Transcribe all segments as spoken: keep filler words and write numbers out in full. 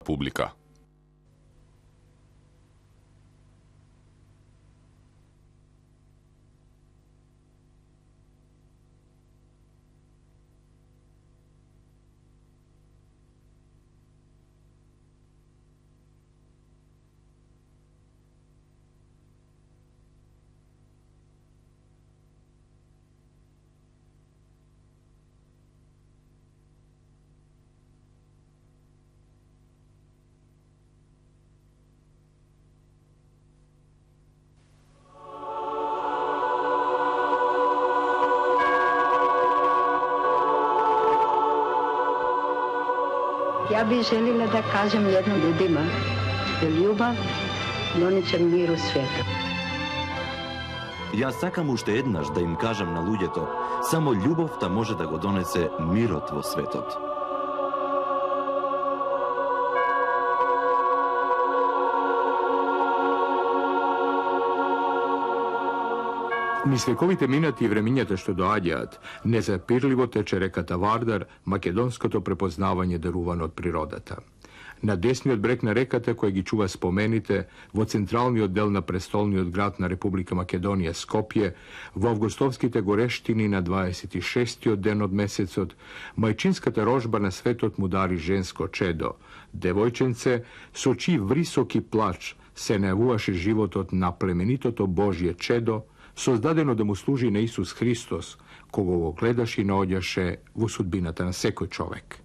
публика. Ja bih željela da kažem jednom ljudima da ljubav донече мир у светот. Јас сакам уште еднаш да им кажам на луѓето, само љубовта може да го донесе мирот во светот. Низ вековите минати и времињата што доаѓаат, незапирливо тече реката Вардар, македонското препознавање дарувано од природата. На десниот брег на реката, која ги чува спомените, во централниот дел на престолниот град на Република Македонија, Скопје, во августовските горештини на дваесет и шестиот ден од месецот, мајчинската рожба на светот му дари женско чедо. Девојченце, со чии врисоки плач се најавуваше животот на племенитото Божје чедо, создадено да му служи на Исус Христос, кого го гледаш и наоѓаше во судбината на секој човек.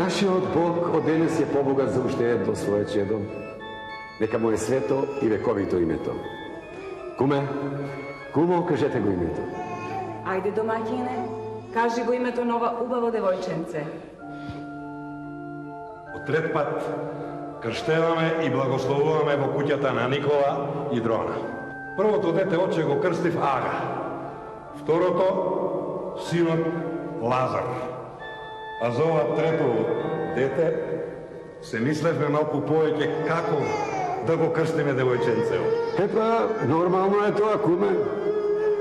Нашиот Бог од денес е побогат за уште едно свое чедо. Нека му е свето и вековито името. Куме, кумо, кажете го името. Ајде, домаќине, кажи го името на ова убаво девојченце. Од трет пат крштеваме и благословуваме во куќата на Никола и Дрона. Првото дете оче го крстив Ага. Второто синот Лазар. А за ова трето дете се мислевме малку повеќе како да го крстиме девојченцево. Епа, нормално е тоа, куме.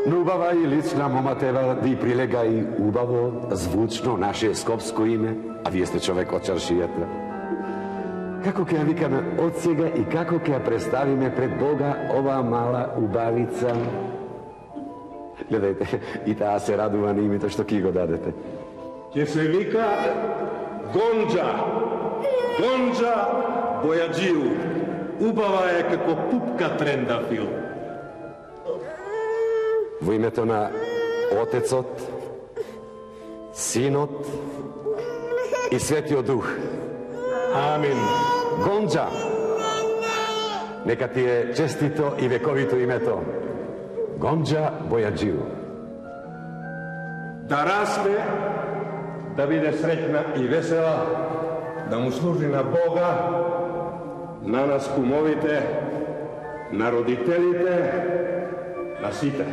Но убава и лична мома тева да и прилега и убаво, звучно наше скопско име, а вие сте човек од чаршијата. Како ќе ја викаме од сега и како ќе ја представиме пред Бога оваа мала убавица? Гледајте, и таа се радува на името што ќе го дадете. Ќе се вика Гонџа. Гонџа Бојаджиу. Убава е како пупка трендафил. Во името на Отецот, Синот и Светиот Дух. Амин. Гонџа. Нека ти е честито и вековито името. Гонџа Бојаджиу. Да расте, да биде среќна и весела, да му служи на Бога, на нас кумовите, на родителите, на сите.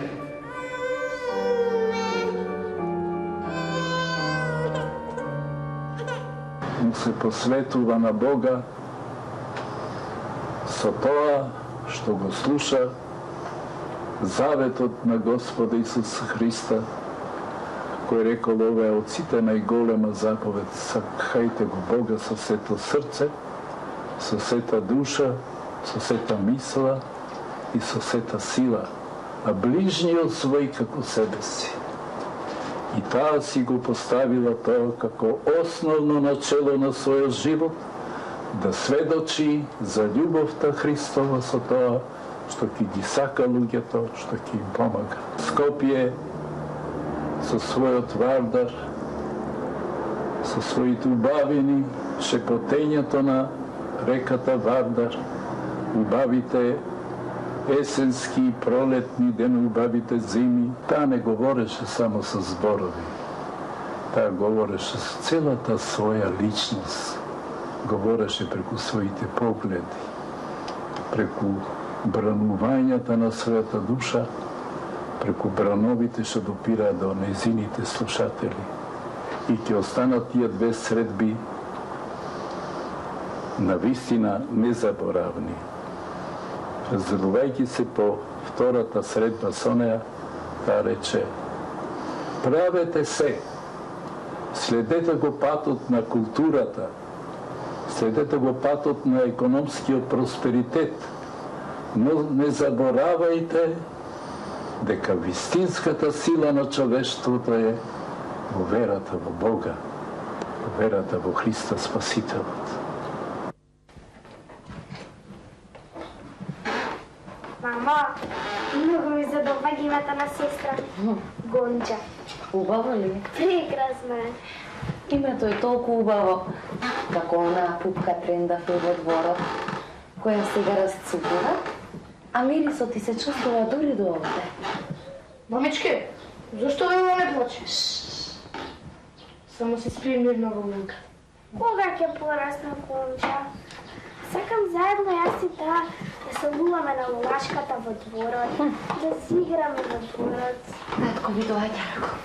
Му се посветува на Бога со тоа што го слуша заветот на Господа Исус Христа, кој рекол ова е од сите најголема заповед: сакајте го Бога со сето срце, со сета душа, со сета мисла и со сета сила, а ближниот свој како себе си. И таа си го поставила тоа како основно начело на својот живот, да сведочи за љубовта Христова со тоа што ќе ги сака луѓето, што ќе им помага. Скопје со својот Вардар, со своите убавини, шепотењето на реката Вардар, убавите есенски и пролетни ден, убавите зими, таа не говореше само со зборови. Таа говореше со целата своја личност. Говореше преку своите погледи, преку бранувањата на својата душа, преку брановите што допираат до незините слушатели. И ќе останат тие две средби на вистина незаборавни. Разделувајќи се по втората средба со неа, таа рече: правете се, следете го патот на културата, следете го патот на економскиот просперитет, но не заборавајте дека вистинската сила на човештвото е во верата во Бога, во верата во Христа Спасителот. Мама, многу ми задоваѓа името на сестра. Гонча. Убаво ли? Прекрасно е. Името е толку убаво, како онаа пупка трендафе во дворот, која сега расцупува, а мирисот ти се чувствува дури до овде. Мамички, зашто Вело не плаче? Само се спи мирно во милка. Кога ќе порасна Гонча? Сакам заедно јас и таа да се луваме на лулашката во дворот, да си играме во дворот. Татко ми доаѓа, рако.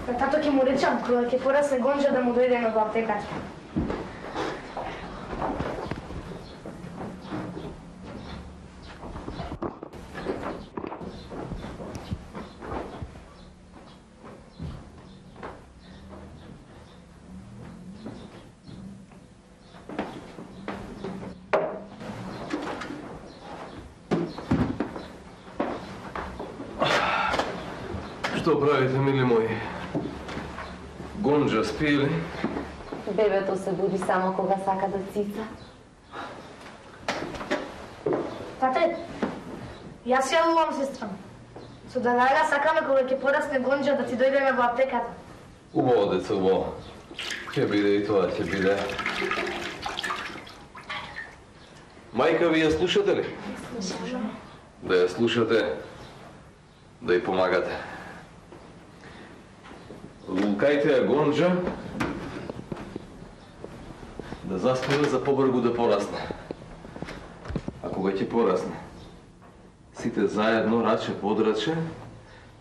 На тато ќе му речам, кога ќе порасне Гонча да му дојдеме во аптеката. Што правите, мили мои? Гонча спи ли? Бебето се буди само кога сака да цица. Тате, јас ја лувам сестра. Со Далајла сакаме кога ќе порасне Гонча да ти дојдеме во аптеката. Убаво, деца, убаво. Ќе биде и тоа, ќе биде. Мајка, ви ја слушате ли? Слушаме. Да ја слушате, да ја помагате. Лулкајте ја Гонча да заспива за побргу да порасне. А кога ќе порасне, сите заедно, раче под раче,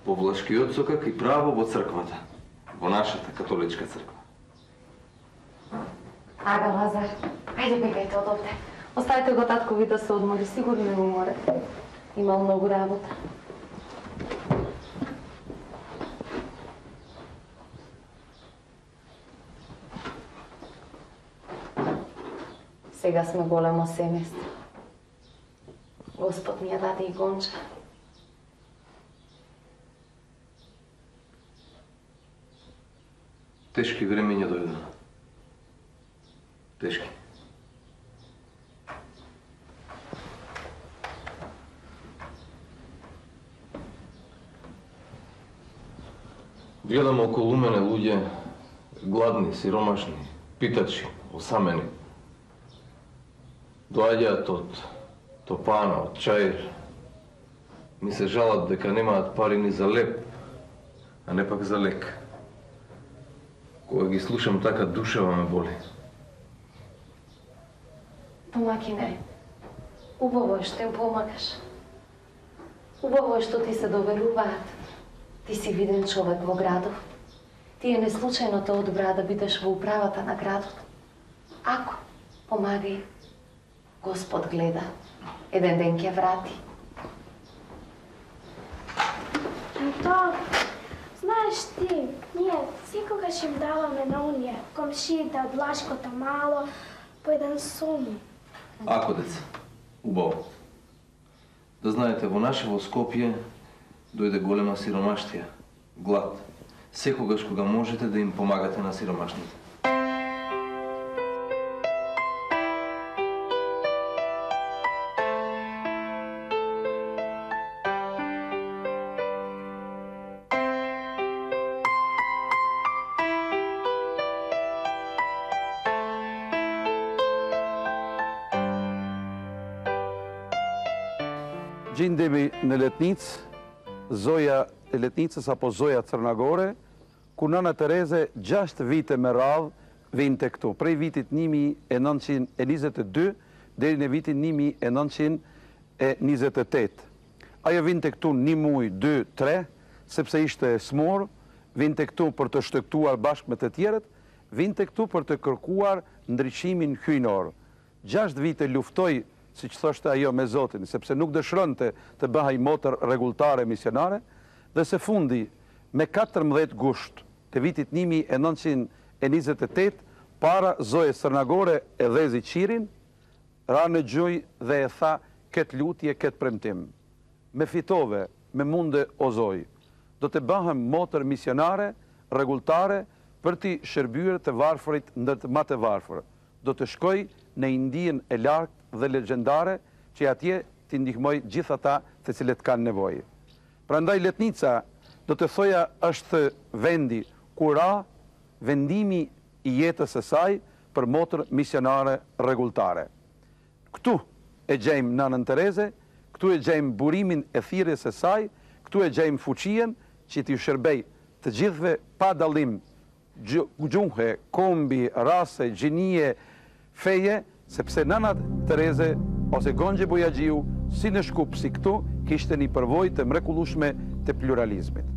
по влашкиот сокак и право во црквата, во нашата католичка црква. Ага, Лазар, ајде бегајте од овде. Оставете го татко ви да се одмори, сигурно не го море. Имал многу работа. Сега сме големо семејство. Господ ми ја даде и Гонча. Тешки времења дојдоа. Тешки. Гледам околу мене луѓе, гладни, сиромашни, питачи, осамени. Доаѓаат од топана, од чаир. Ми се жалат дека немаат пари ни за леп, а не пак за лек. Кога ги слушам така, душава ме боли. Домакине, убаво е што им помагаш. Убаво е што ти се доверуваат. Ти си виден човек во градов. Тие не случајно те одбраа да бидеш во управата на градот. Ако помагај, Господ гледа. Еден ден ќе врати. То, знаеш ти, ние секогаш им даваме на оние комшиите од Лашкото мало по еден сум. Ако, деца, убаво. Да знаете, во наше во Скопје дојде голема сиромаштија, глад. Секогаш кога можете да им помагате на сиромашните. Gjendemi në Letnicë, Zoja e Letnicës apo Zoja Crnagore ku Nana Tereze gjashtë vite me radhë vinte këtu, prej vitit një mijë e nëntëqind e njëzet e dy deri në vitin një mijë e nëntëqind e njëzet e tetë. Ajo vinte këtu një muj, dy, tre, sepse ishte e smur, vinte këtu për të shtektuar bashkë me të tjerët, vinte këtu për të kërkuar ndriçimin hyjnor. Gjashtë vite luftoi, si që thoshte ajo me Zotin, sepse nuk dëshironte të bëhej motër rregulltare misionare, dhe së fundi me katërmbëdhjetë gusht të vitit një mijë e nëntëqind e njëzet e tetë, para Zoje Sërnagore e Dhezi Qirin, ra në gjuj dhe e tha këtë lutje, këtë premtim. Me fitove, me munde o Zoj, do të bëhem motër misionare, rregulltare, për t'i shërbyer të varfërit ndër të më të varfër. Do të shkoj në Indien e largët dhe legjendare, që atje t'i ndihmoj gjithë ata të cilët kanë nevojë. Prandaj Letnica, do të thoja, është vendi ku ra vendimi i jetës së saj për motër misionare rregulltare. Këtu e gjejmë Nanën Tereze, këtu e gjejmë burimin e thirrjes së saj, këtu e gjejmë fuqien që t'i shërbej të gjithëve pa dallim gjuhe, kombi, rase, gjinie, feje, sepse Nana Tereze ose Gonxhe Bujaxhiu, si në Shkup si këtu, kishte një përvojë të mrekullueshme të pluralizmit.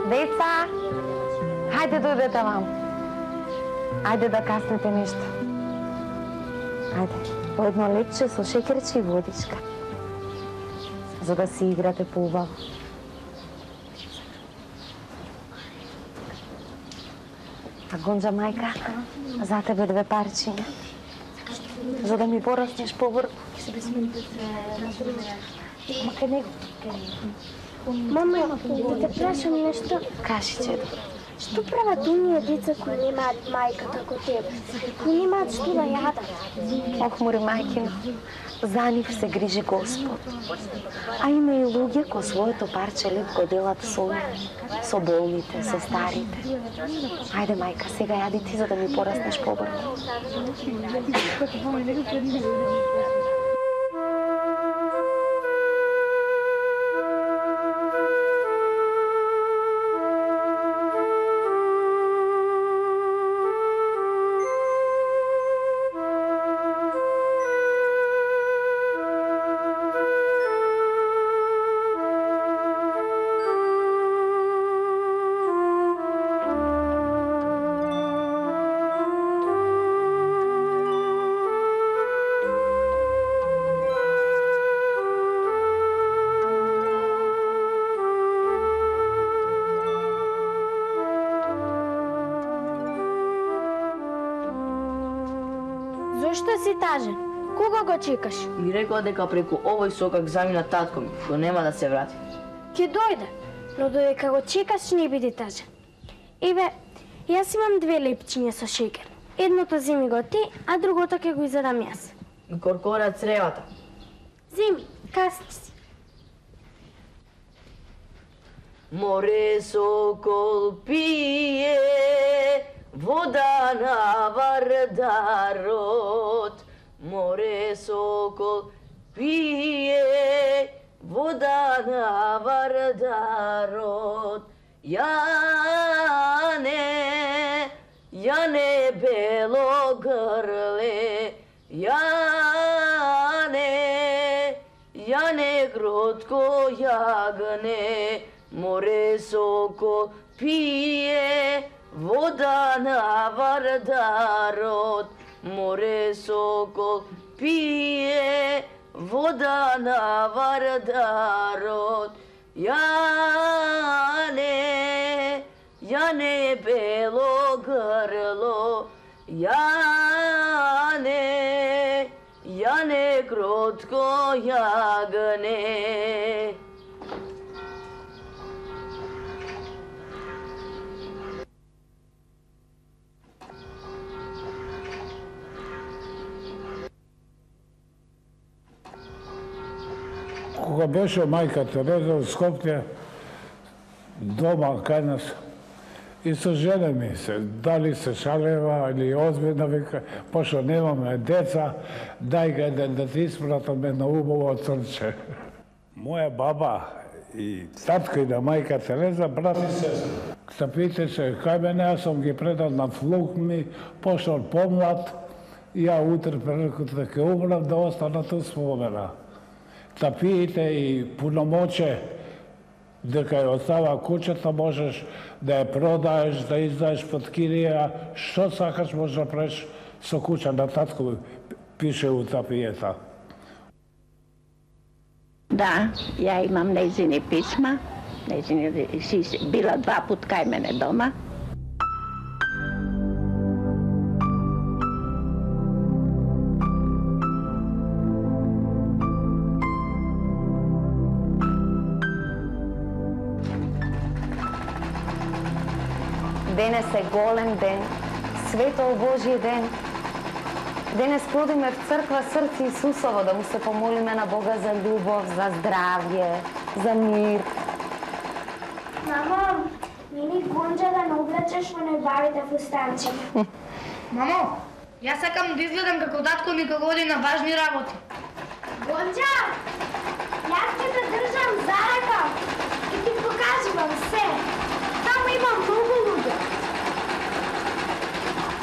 Деца, хајде дојдете вам. Ајде да каснете нешто. Ајде, по едно лепче со шеќерче и водичка. За да си играте поубаво. А Гонџа мајка, за тебе две парчиња. За да ми пораснеш побрзо. Ма кај него? Мама, да те прашам нешто. Кажи, чедо. Што прават оние деца кои немаат мајка како тебе? Кои немаат што да јадат? Ох, море мајкино, за нив се грижи Господ. А има и луѓе кои своето парче леп го делат со нив, со болните, со старите. Ајде, мајка, сега јади ти за да ми пораснеш побрзо. Зошто си тажен? Кога го чекаш? Ми рекла дека преку овој сокак замина татко ми, го нема да се врати. Ке дојде, но додека го чекаш не биди тажен. Еве, јас имам две лепчиња со шеќер. Едното земи го ти, а другото ќе го изедам јас. И коркора цревата. Земи, касни си. Море сокол пие, вода на Вардарот. Море сокол пие, вода на Вардарот. Јане, јане бело грле, јане, јане кротко јагне. Море сокол пие, вода на Вардарот, море сокол пие, вода на Вардарот. Јане, јане бело грло, јане, јане кротко јагне. Кога беше мајка Тереза во Скопје, дома кај нас, и со жене ми се, дали се шалева или озбилна, вика, пошто немаме деца, дај га да, да ти испратаме на убаво црче. Моја баба и татко и на мајка Тереза, брат и сестра. Се питаше кај мене, јас сум ги предал на внук ми, пошто помлад, ја утре прекот да ке умрам, да остана ту спомена. Да пиете и пуномоче дека ја остава куќата, можеш да ја продаеш, да издаеш под кирија, што сакаш можеш да правиш со куќа на татко, пише у тапијета. Да, ја имам нејзини писма, нејзини си била два пут кај мене дома. Денес е голем ден, светол Божји ден. Денес ходиме в црква Срце Исусово да му се помолиме на Бога за љубов, за здравје, за мир. Мамо, мини гонџа да не облечеш во најбавите фустанчета. Мамо, јас сакам да изгледам како татко ми кога оди на важни работи. Гонџа, јас ќе те држам за рака и ти покажувам се. Таму има многу луѓе.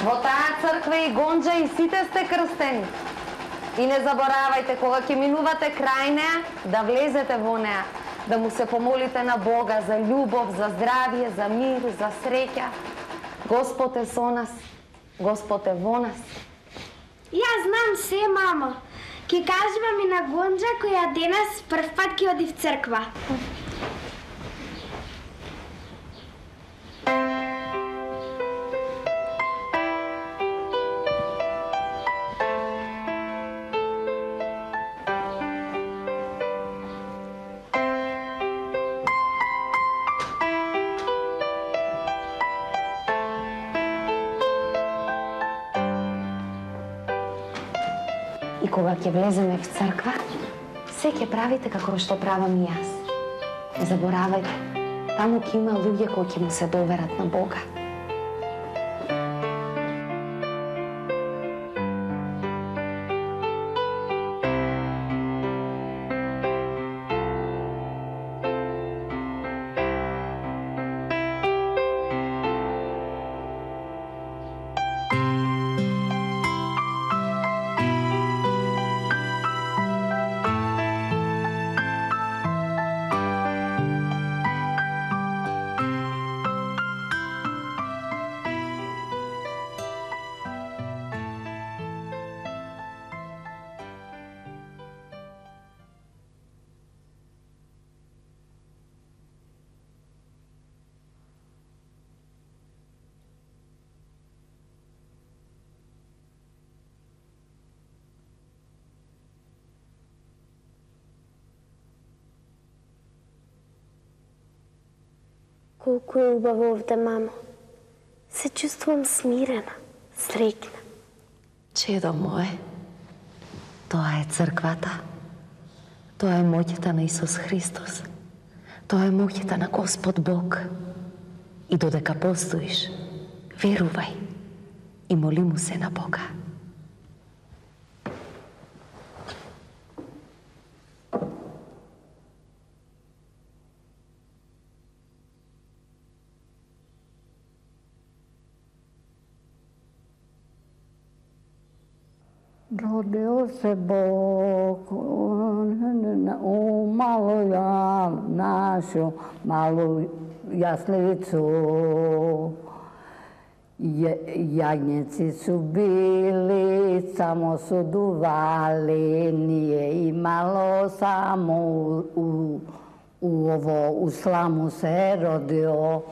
Во таа црква и гонџа и сите сте крстени. И не заборавајте, кога ќе минувате крај неа, да влезете во неа, да му се помолите на Бога за љубов, за здравје, за мир, за среќа. Господ е со нас, Господ е во нас. Јас знам се, мамо. Ќе кажувам и на гонџа која денес прв пат ќе оди в црква. И кога ќе влеземе в црква, се ќе правите како што правам и јас. Не заборавајте, таму ќе има луѓе кои ќе му се доверат на Бога. Колку е убаво овде, мамо. Се чувствувам смирена, среќна. Чедо мое, тоа е црквата. Тоа е моќта на Исус Христос. Тоа е моќта на Господ Бог. И додека постоиш, верувај и моли му се на Бога. Rodeo se Bog u malu našu malu jaslicu. Јагњеци су били, само су дували, nije imalo samo u, u ovo, u slamu se rodio.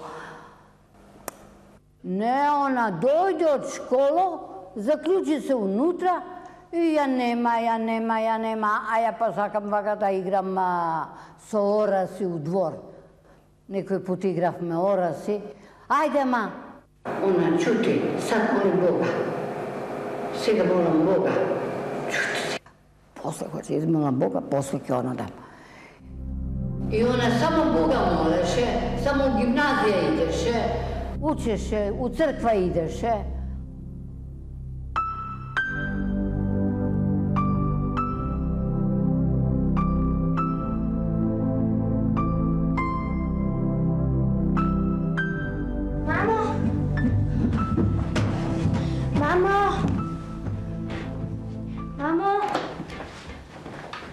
Ne, ona dođe od školo, zaključi se unutra i ja nema, ja nema, ja nema, a ja pa sakam vaka da igram a, sa orasi u dvor. Некој пут игравме ораси. Ајде, ма! Она, чути, сад моли Бога. Сега молам Бога. Чути сега. После кога ќе измолам Бога, после ќе она дам. И она само Бога молеше, само у гимназија идеше, учеше, у црква идеше.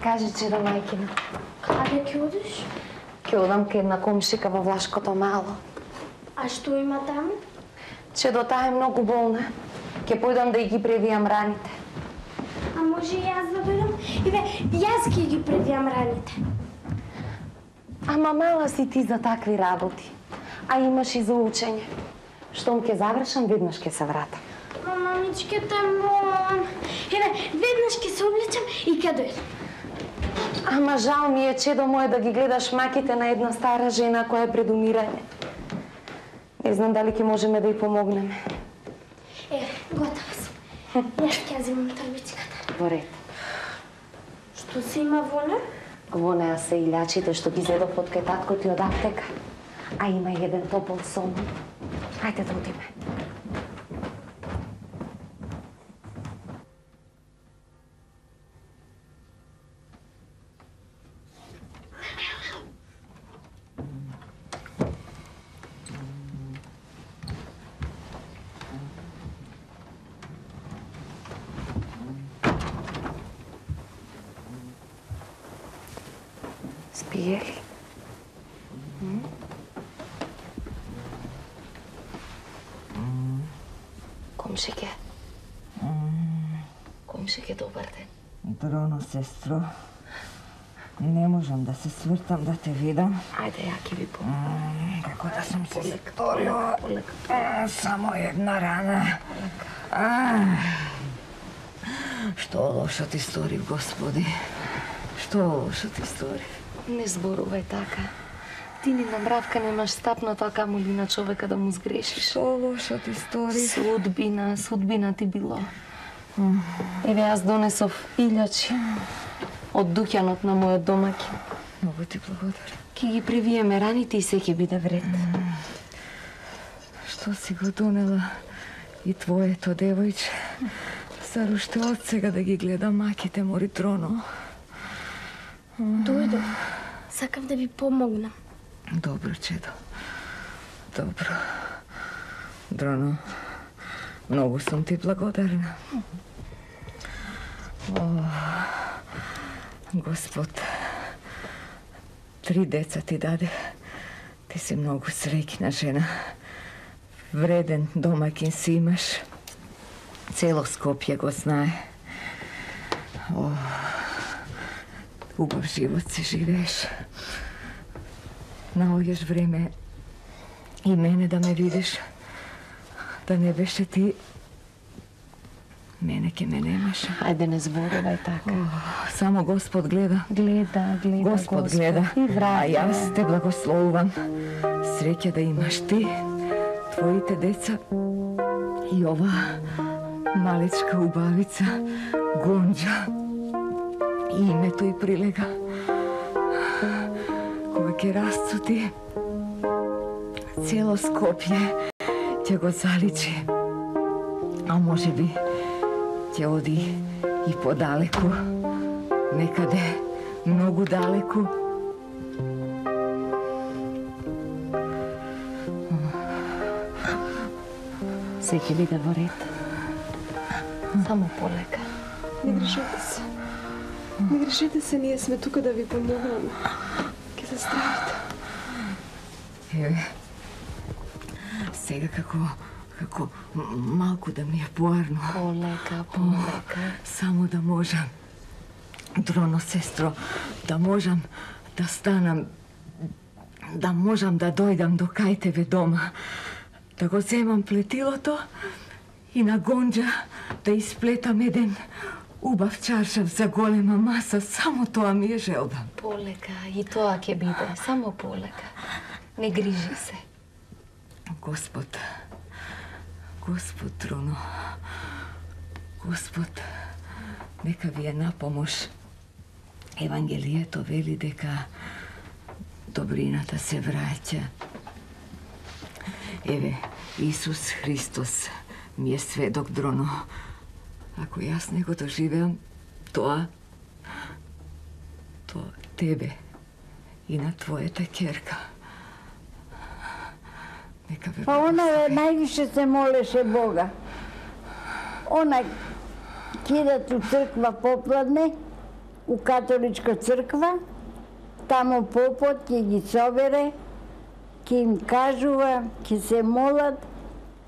Кажи, че да мајкина. Каде ќе одиш? Ќе одам кај една комшика во Влашкото мало. А што има таму? Че до таа е многу болна. Ќе појдам да ги превијам раните. А може и јас да дојдам? Иве, јас ќе ги превијам раните. Ама мала си ти за такви работи. А имаш и за учење. Штом ќе завршам, веднаш ќе се вратам. Мамичке, те молам. Еве, веднаш ќе се облечам и ќе дојдам. Ама жал ми е, чедо моје, да ги гледаш маките на една стара жена која е пред умирање. Не знам дали ќе можеме да ја помогнеме. Еве, готова сум. Јас ќе земам торбичката. Во ред. Што се има во неа? Во неа се илјачите што ги зедов од кај татко ти од аптека. А има и еден топол сон. Ајде да одиме. Спие ли? Комшике. Комшике, добар ден. Дроно, сестро. Не можам да се свртам да те видам. Ајде, ја ќе ви помогам. Како да сум се сторила. Само една рана. Што лошо ти сторив, Господи? Што лошо ти сторив? Не зборувај така. Ти ни на мравка немаш стапнато, а камоли на човека да му сгрешиш. Што лошо ти сторив? Судбина, судбина ти било. Еве, јас донесов илјачи од дуќанот на мојот домаќин. Многу ти благодарам. Ке ги превиеме раните и се ќе биде вред. Што си го донела и твоето девојче? Сар уште од сега да ги гледам маките, мори Дроно. Дојдов. Сакав да ви помогнам. Добро, чедо. Добро. Дроно, многу сум ти благодарна. О, Господ, три деца ти даде. Ти си многу среќна жена. Вреден домакин си имаш. Цело Скопје го знае. О, убав живот си живееш. Наоѓаш време и мене да ме видиш. Да не беше ти, мене ке ме немаше. Ајде, не зборувај така. О, само Господ гледа. Гледа, гледа Господ, Господ гледа. И врата. А јас те благословувам. Среќа да имаш ти, твоите деца и ова малечка убавица, Гонџа. И името и прилега. Кога ќе расцути, цело Скопје ќе го заличи. А може би ќе оди и подалеку, некаде многу далеку. Се ќе биде во ред. Само полека. Не грешете се. Не грешете се, ние сме тука да ви помогнеме. Ке се стравите. Еве, сега како, Како малку да ми е поарно. Полека, полека. Само да можам, Дроно, сестро, да можам да станам, да можам да дојдам до кај тебе дома, да го земам плетилото и на гонџа да исплетам еден убав чаршав за голема маса. Само тоа ми е желба. Полека, и тоа ќе биде. Само полека. Не грижи се. Господ, Господ, Дроно, Господ, нека ви е на помош. Евангелието вели дека добрината се враќа. Еве, Исус Христос ми е сведок, Дроно. Ако јас не го доживеам тоа, тоа тебе и на твојата ќерка. Нека ве... Па она највише се молеше Бога. Она кидат у црква попладне, у католичка црква, тамо попот ќе ги собере, ќе им кажува, ќе се молат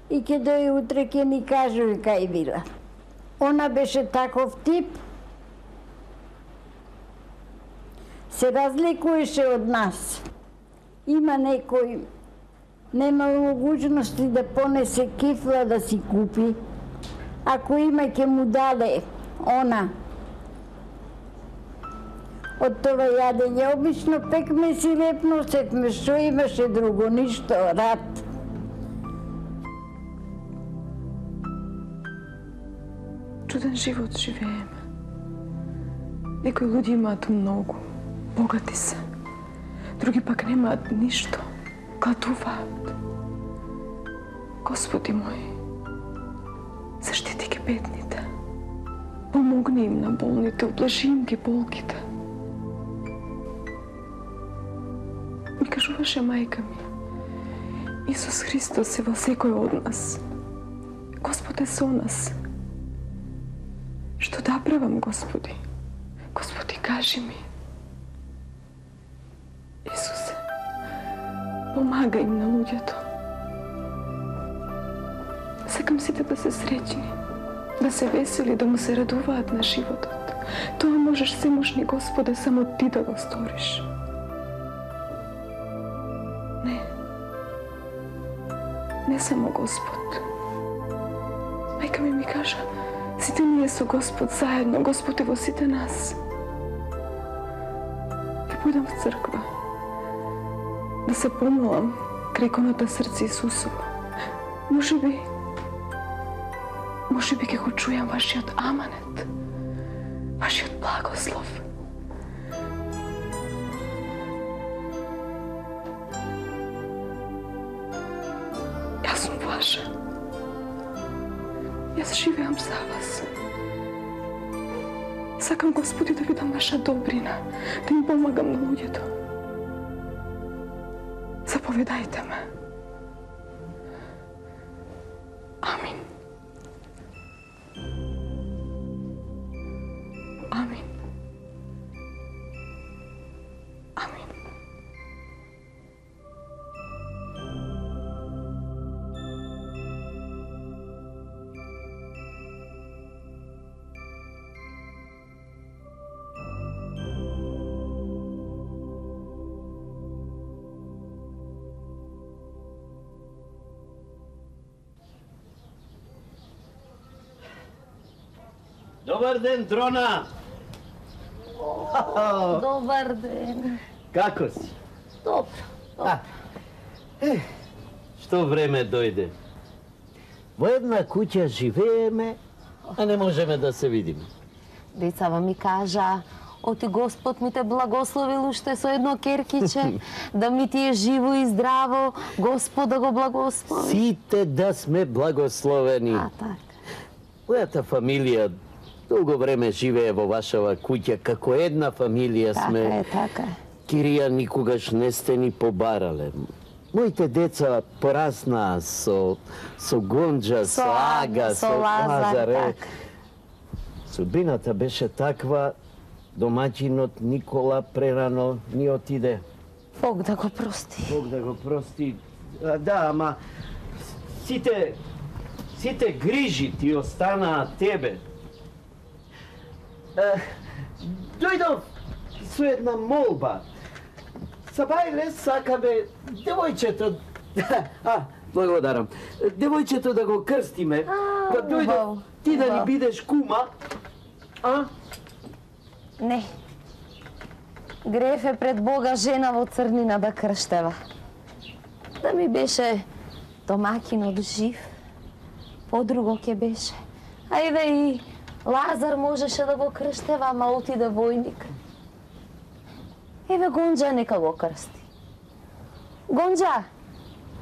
и ќе дојде утре ќе ни кажува кај била. Она беше таков тип, се разликуваше од нас. Има некој нема могуćности да понесе кифла да си купи. Ако има, ќе му даде она. Од това јадење обично пекмес и леп носевме, што имаше друго, ништо, рад. Чуден живот живееме. Некои луѓе имаат многу, богати се. Други пак немаат ништо, гладуваат. Господи мој, заштити ги бедните. Помогни им на болните, облажи им ги болките. Ми кажуваше мајка ми, Исус Христос е во секој од нас. Господ е со нас. Што да правам, Господи? Господи, кажи ми. Исусе, помагај им на луѓето. Сакам сите да се среќни, да се весели, да му се радуваат на животот. Тоа можеш семошни, Господе, само ти да го сториш. Не. Не само Господ. Мајка ми ми кажа, сите ние со Господ заедно, Господ е во сите нас. Ќе појдам в црква, да се помолам крај иконата срце Исусово. Може би, може би ќе го чујам вашиот аманет, вашиот благослов. Јас сум ваша. Јас живеам за вас. Сакам, Господи, да видам ваша добрина, да им помагам на луѓето. Заповедајте ме. Амин. Амин. Амин. Добар ден, Дрона! Добар ден. Како си? Добро. А, е, што време дојде. Во една куќа живееме, а не можеме да се видиме. Децава ми кажа, оти Господ ми те благословил уште со едно керкиче, да ми ти е живо и здраво, Господ да го благослови. Сите да сме благословени. А, така. Мојата фамилија долго време живее во вашава куќа, како една фамилија сме. Така е, така е. Кирија, никогаш не сте ни побарале. Моите деца пораснаа со, со Гонџа, со, со Ага, со Лазар, така. Судбината беше таква, домаќинот Никола прерано ни отиде. Бог да го прости. Бог да го прости. А, да, ама сите Сите грижи ти останаа тебе. Е, дојдов со една молба. Сабајле сакаме девојчето... А, благодарам. Девојчето да го крстиме. Па дојдов ти да ни бидеш кума. А? Не. Греф е пред Бога жена во црнина да крштева. Да ми беше домакинот жив, подруго ке беше. Ајде и Лазар можеше да го крштева, ама отиде војник. Еве Гонџа нека го крсти. Гонџа,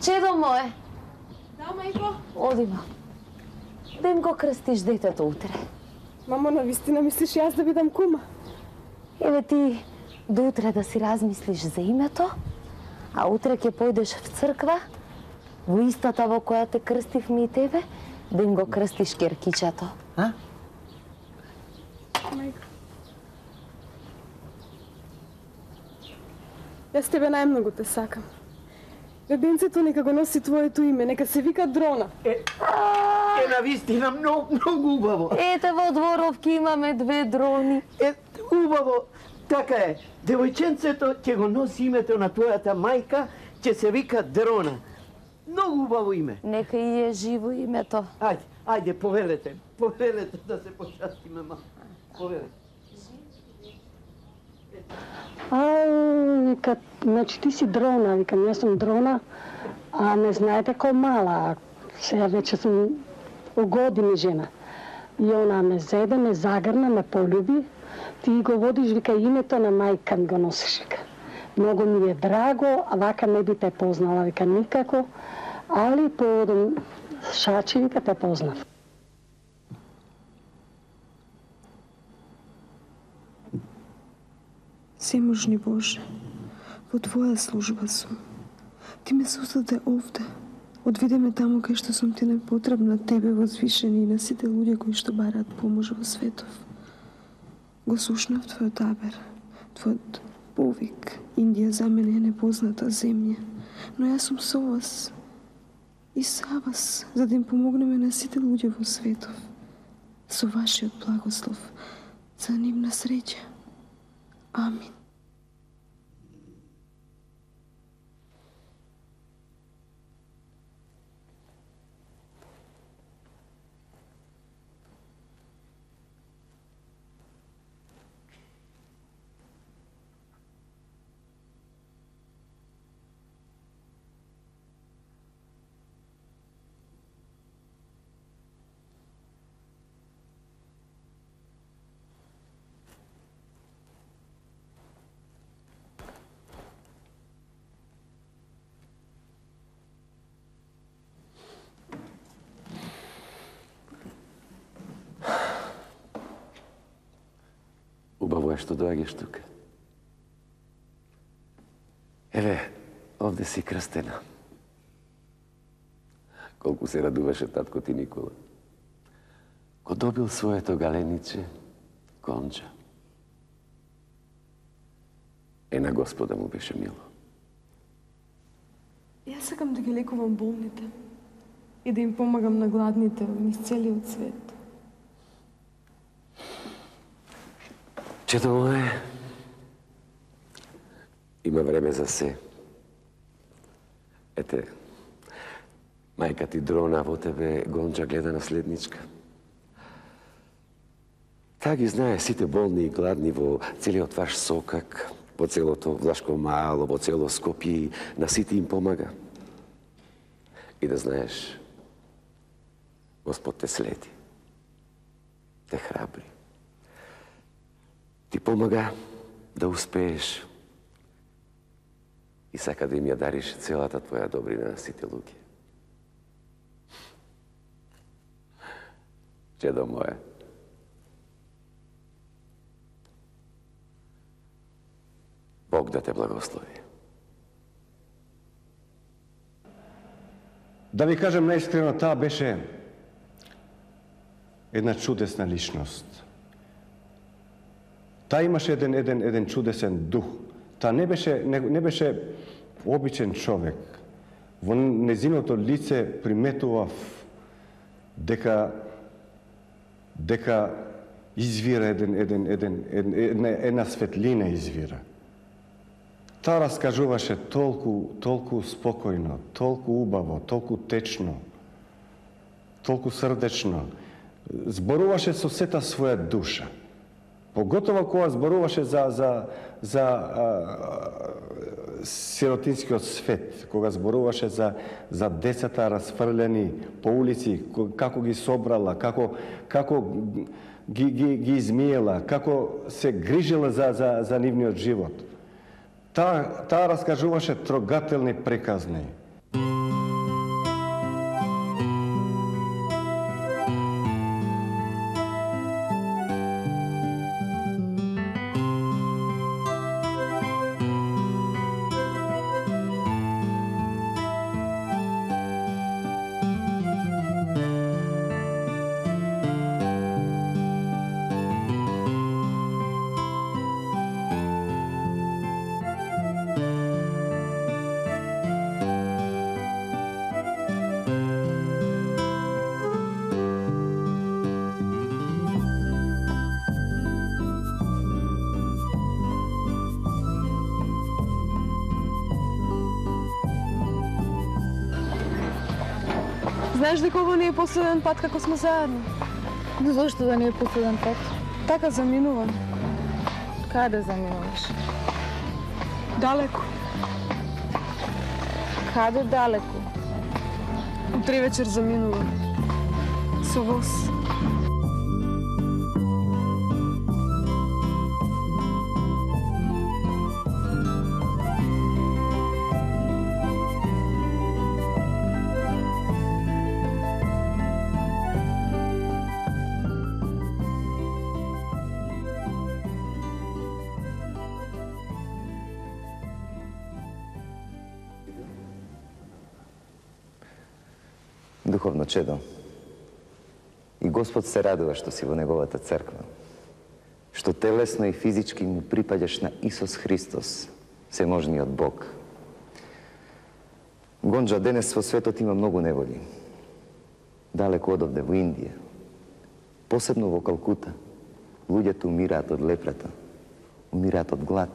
чедо мое. Да, мајко. Одима. Да им го крстиш детето утре. Мамо, навистина мислиш јас да бидам кума? Еве ти до утре да си размислиш за името, а утре ќе појдеш в црква, во истата во која те крстивме и тебе, да им го крстиш керкичето. А? Мајко. Јас тебе најмногу те сакам. Бебенцето нека го носи твоето име, нека се вика Дрона. Е, е навистина многу, многу убаво. Ете во Дворовки имаме две дрони. Е, убаво. Така е. Девојченцето ќе го носи името на твојата мајка, ќе се вика Дрона. Многу убаво име. Нека и е живо името. Ајде, ајде, повелете. Повелете да се почастиме малку. Повелете. А, вика, значи ти си Дрона, викам, јас сум Дрона, а не знаете кој мала, сега веќе сум у години жена. И она ме зеде, ме загрна, ме полюби, ти го водиш, вика, името на мајка ми го носиш, вика. Многу ми е драго, а вака не би те познала, вика, никако, али поводом шачи, вика, те познав. Всеможни Боже, во Твоја служба сум. Ти ме создаде овде. Одведе ме таму кај што сум ти најпотребна, Тебе возвишени и на сите луѓе кои што бараат помош во светов. Го слушнав Твојот абер, Твојот повик. Индија за мене е непозната земја, но јас сум со вас и са вас, за да им помогнеме на сите луѓе во светов. Со Вашиот благослов, за нивна среќа. Амин. Убаво е што доаѓаш тука. Еве, овде си крстена. Колку се радуваше татко ти Никола. Ко добил своето галениче, Гонџа. Е, на Господа му беше мило. Јас сакам да ги лекувам болните и да им помагам на гладните низ целиот свет. Чето мое, има време за се. Ете, мајка ти Дрона во тебе, Гонџа, гледа наследничка. Таа ги знае сите болни и гладни во целиот ваш сокак, во целото Влашко мало, во цело Скопје, на сите им помага. И да знаеш, Господ те следи, те храбри. Ти помага да успееш и сака да им ја дариш целата твоја добрина на сите луѓе. Чедо мое, Бог да те благослови. Да ви кажем наискрено, таа беше една чудесна личност. Таа имаше еден, еден, еден чудесен дух. Таа не беше, не, не беше обичен човек. Во незиното лице приметував дека дека извира еден, еден, еден, една, една светлина извира. Таа раскажуваше толку, толку спокојно, толку убаво, толку течно, толку срдечно. Зборуваше со сета своја душа. Поготово кога зборуваше за, за, за а, сиротинскиот свет, кога зборуваше за, за децата расфрлени по улици, како ги собрала, како, како ги, ги, ги измиела, како се грижила за, за, за нивниот живот. Таа, таа раскажуваше трогателни приказни. Знаеш дека ово не е последен пат како сме заедно? Зошто да не е последен пат? Така заминувам. Каде заминуваш? Далеко. Каде далеко? Утре вечер заминувам. Со воз. Духовно чедо, и Господ се радува што си во Неговата црква, што телесно и физички му припаѓаш на Исус Христос, всеможниот Бог. Гонџа, денес во светот има многу неволи. Далеко одовде во Индија, посебно во Калкута, луѓето умираат од лепрата, умираат од глад,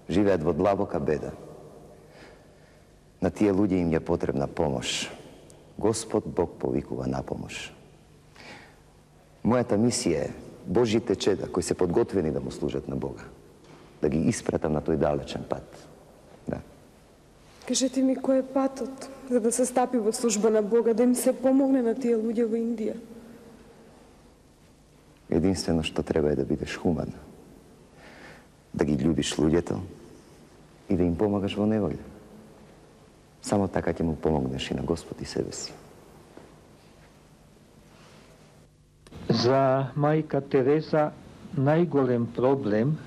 живеат во длабока беда. На тие луѓе им е потребна помош. Господ Бог повикува на помош. Мојата мисија е Божите чеда кои се подготвени да му служат на Бога, да ги испратам на тој далечен пат. Да. Кажете ми кој е патот за да се стапи во служба на Бога, да им се помогне на тие луѓе во Индија? Единствено што треба е да бидеш хуман, да ги љубиш луѓето и да им помагаш во неволја. Само така ќе му помогнеш и на Господ и себе си. За мајка Тереза најголем проблем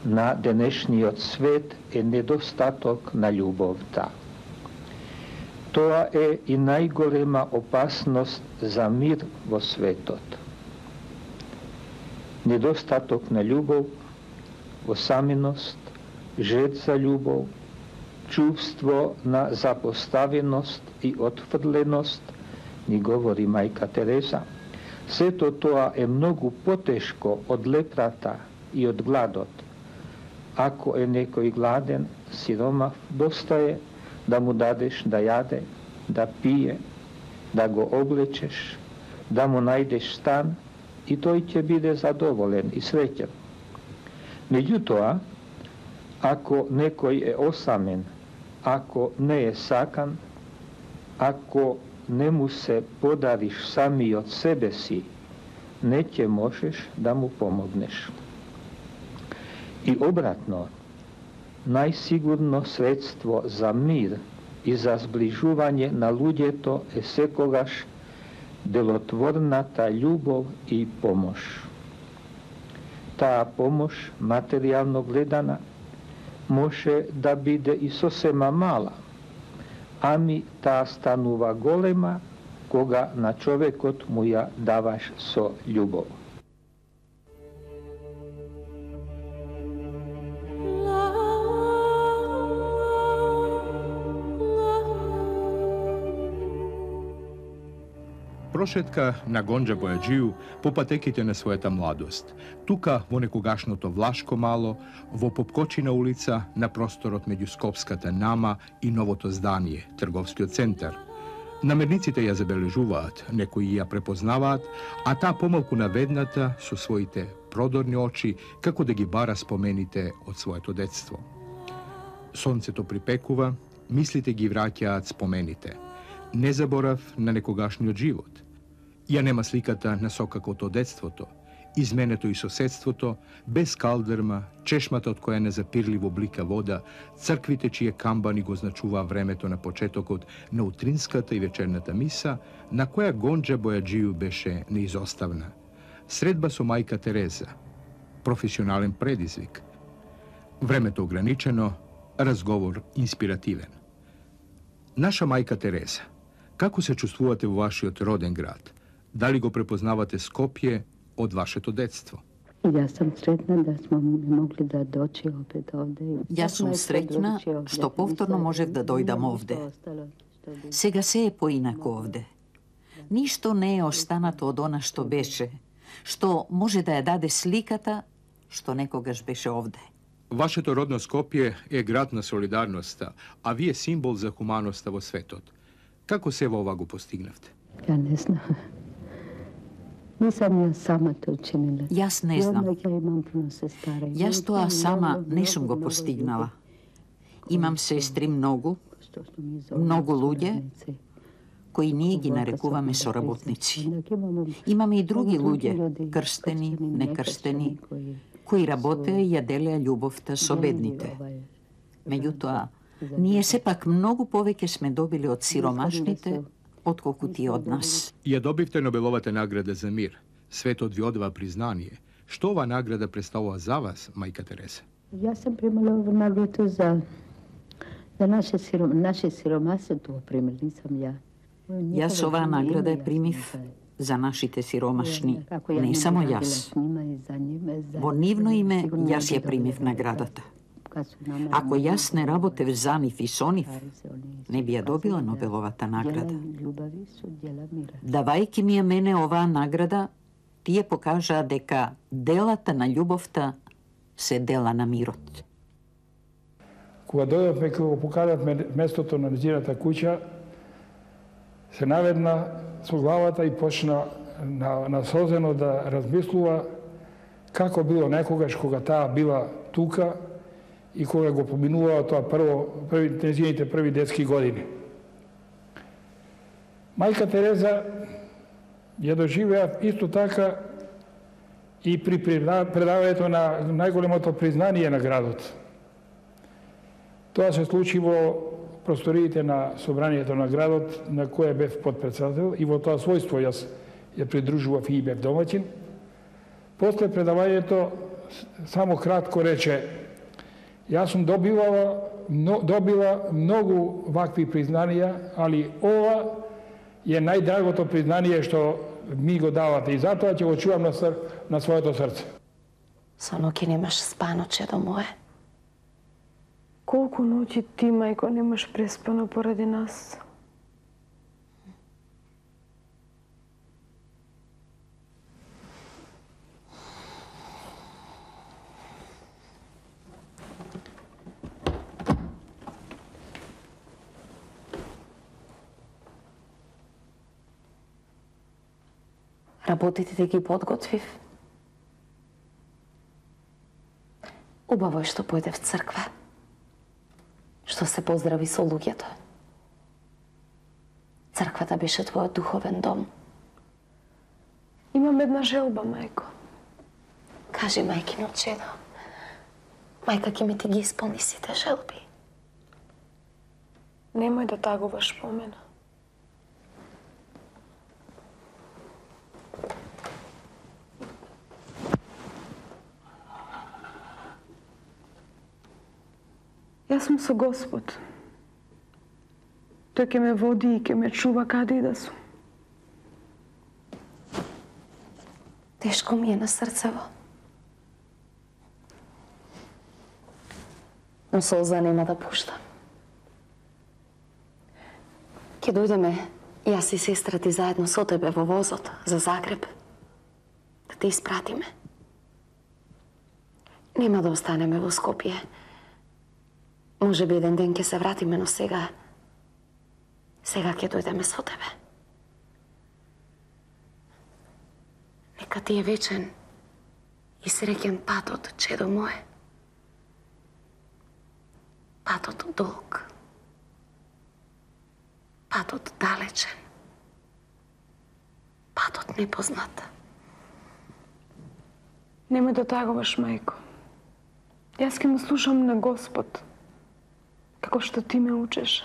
на денешниот свет е недостаток на љубовта. Тоа е и најголема опасност за мир во светот. Недостаток на љубов, осаменост, жед за љубов, чувство на запоставеност и отфрленост, ни говори мајка Тереза, сето тоа е многу потешко од лепрата и од гладот. Ако е некој гладен, сиромав, доста е да му дадеш да јаде, да пие, да го облечеш, да му најдеш стан и тој ќе биде задоволен и среќен. Меѓутоа, ако некој е осамен, ако не е сакан, ако не му се подариш самиот себе си, не ќе можеш да му помогнеш. И обратно, најсигурно средство за мир и за сближување на луѓето е секогаш делотворната љубов и помош. Таа помош, материјално гледана, може да биде и сосема мала, ами таа станува голема кога на човекот му ја даваш со љубов. прошетка на Гонџа Бојаджију по патеките на својата младост. Тука, во некогашното Влашко мало, во Попкочина улица, на просторот меѓу Скопската Нама и новото здание, трговскиот центар. Намерниците ја забележуваат, некои ја препознаваат, а таа помалку наведната со своите продорни очи, како да ги бара спомените од своето детство. Сонцето припекува, мислите ги враќаат спомените. Не заборав на некогашниот живот. Ја нема сликата на сокакото од детството, изменето и соседството, без калдерма, чешмата од која незапирливо блика вода, црквите чие камбани го значуваа времето на почетокот на утринската и вечерната миса, на која Гонџа Бојаджију беше неизоставна. Средба со мајка Тереза, професионален предизвик. Времето ограничено, разговор инспиративен. Наша мајка Тереза, како се чувствувате во вашиот роден град? Дали го препознавате Скопје од вашето детство? Јас сум сретна да смо могли да дојдеме опет овде. Јас сум среќна што повторно можев да дојдам овде. Сега се е поинако овде. Ништо не е останато од она што беше, што може да ја даде сликата што некогаш беше овде. Вашето родно Скопје е град на солидарноста, а вие символ за хуманоста во светот. Како се во ова го постигнавте? Ја не знам. Не сам ја сама тоа учинила. Јас не знам. Ја имам puno сестара. Јас тоа сама не сум го постигнала. Имам сестри многу, многу луѓе, кои ние ги нарекуваме соработници. Имаме и други луѓе, крстени, некрстени, кои работеа и ја делеа љубовта со бедните. Меѓутоа, ние сепак многу повеќе сме добили од сиромашните, отколку тие од нас. Ја добивте Нобеловата награда за мир. Светот ви одава признание. Што ова награда представува за вас, мајка Тереза? Јас сам примала оваа награда за за наше сиром наше сиромаштво, тоа пример нисам ја. Јас оваа награда ја примив за нашите сиромашни, не само јас. Во нивно име јас ја примив наградата. Ако јас не работев за нив и со нив, не би ја добила Нобеловата награда. Давајќи ми ја мене оваа награда, тие покажаа дека делата на љубовта се дела на мирот. Кога дојдовме кога го покажавме местото на нејзината куќа, се наведна со главата и почна на, насозено да размислува како било некогаш кога таа била тука и кога го поминувала тоа прво, први, нејзините први детски години. Мајка Тереза ја доживеа исто така и при предавањето на најголемото признание на градот. Тоа се случи во просториите на собранието на градот, на кој бев подпредседател, и во тоа својство јас ја придружував и бев домаќин. После предавањето само кратко рече: јас сум добивала, но, добила многу вакви признанија, али ова е најдрагото признание што ми го давате и затоа ќе го чувам на, ср... на своето срце. Со ноќи немаш спано, чедо мое. Колку ноќи ти, мајко, немаш преспано поради нас? Работите ги подготвив. Убаво е што појде в црква. Што се поздрави со луѓето. Црквата беше твојот духовен дом. Имам една желба, мајко. Кажи, мајкино чедо. Мајка ќе ми ти ги исполни сите желби. Немој да тагуваш по мене. Јас сум со Господ. Тој ќе ме води и ќе ме чува каде и да сум. Тешко ми е на срцево. Но солза нема да пуштам. Ќе дојдеме Јас и сестра ти заедно со тебе во возот за Загреб. Да те испратиме. Нема да останеме во Скопје. Може би еден ден ќе се вратиме, но сега... Сега ќе дојдеме со тебе. Нека ти е вечен и среќен патот, чедо мое. Патот долг. Патот далечен. Патот непознат. Нема да тагуваш, мајко. Јас ке му слушам на Господ, како што ти ме учеш.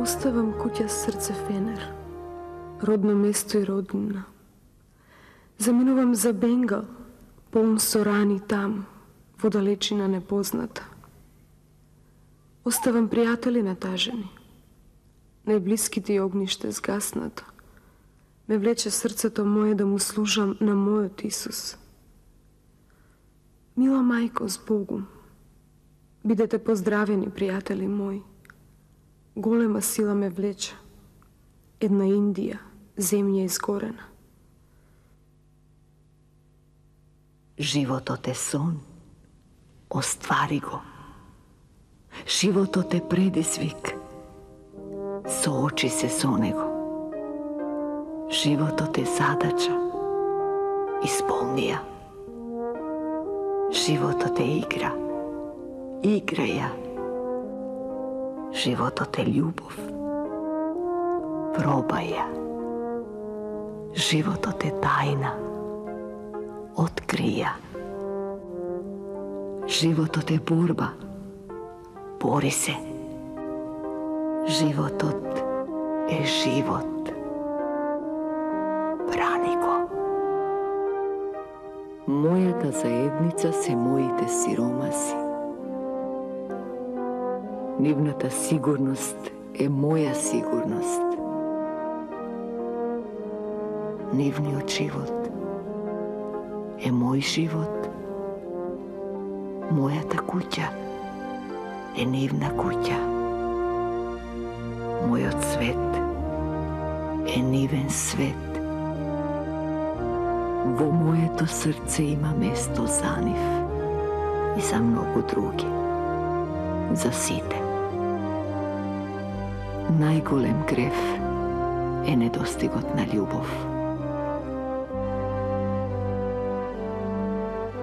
Оставам куќа срце фенер, родно место и роднина. Заминувам за Бенгал, полн со рани там, во далечина непозната. Оставам пријатели натажени. Најблиските огниште згаснато. Ме влече срцето мое да му служам на мојот Исус. Мила мајко, с Богом, бидете поздравени, пријатели мои. Голема сила ме влече. Една Индија, земја изгорена. Животот е сон. Оствари го. Животот е предизвик. Соочи се со него. Животот е задача. Исполни ја. Животот е игра. Играј ја. Животот е љубов. Пробај ја. Животот е тајна. Откри ја. Животот е борба. Бори се. Животот е живот. Брани го. Мојата заедница се моите сиромаси. Нивната сигурност е моја сигурност. Нивниот живот е мој живот. Мојата куќа е нивна куќа. Мојот свет е нивен свет. Во моето срце има место за нив и за многу други. За сите. Најголем грев е недостигот на љубов.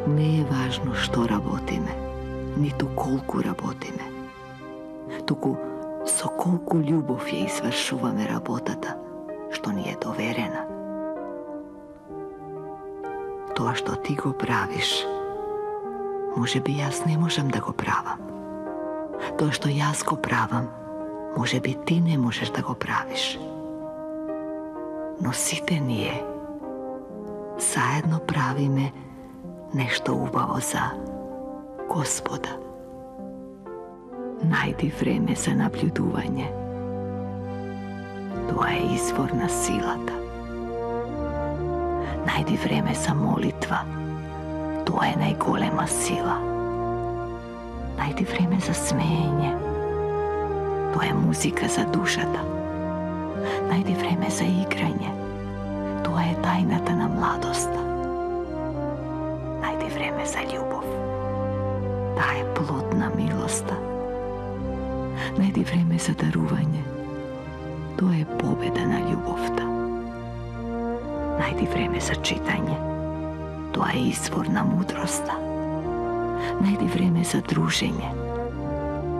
Не е важно што работиме, ниту колку работиме, туку со колку љубов ја извршуваме работата што ни е доверена. Тоа што ти го правиш, може би јас не можам да го правам. Тоа што јас го правам, може би ти не можеш да го правиш. Но сите ние заедно правиме нешто убаво за Господа. Најди време за наблюдување. Тоа е извор на силата. Најди време за молитва. Тоа е најголема сила. Најди време за смеење. Тоа е музика за душата. Најди време за играње. Тоа е тајната на младоста. Најди време за љубов. Таа е плод на милоста. Најди време за дарување. Тоа е победа на љубовта. Најди време за читање. Тоа е извор на мудроста. Најди време за дружење.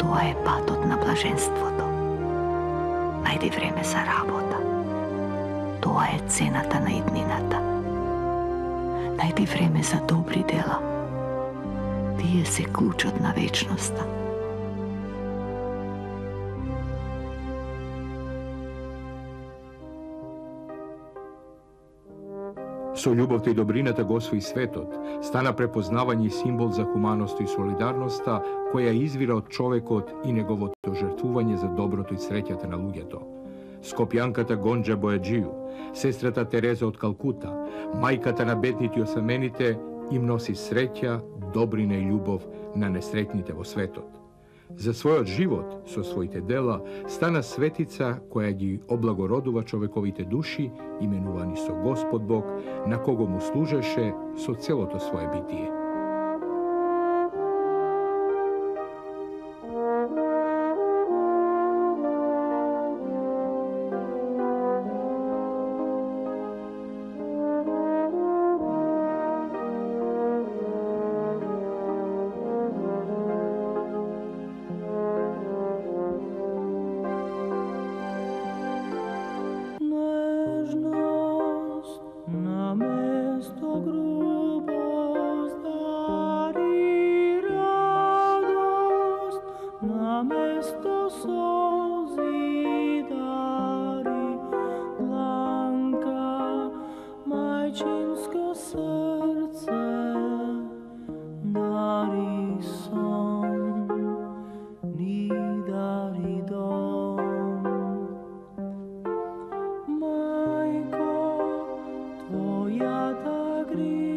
Тоа е патот на блаженството. најди време за работа. Тоа е цената на иднината. Најди време за добри дела. Тие се клучот на вечноста. Со љубовта и добрината го освои светот, стана препознавање и символ за хуманост и солидарноста, која извира од човекот и неговото жртвување за доброто и среќата на луѓето. Скопјанката Гонџа Бојаџију, сестрата Тереза од Калкута, мајката на бедните и осамените, им носи среќа, добрина и љубов на несреќните во светот. За својот живот, со своите дела, стана светица која ги облагородува човековите души, именувани со Господ Бог, на кого му служеше со целото свое битие. Tvoja ta gri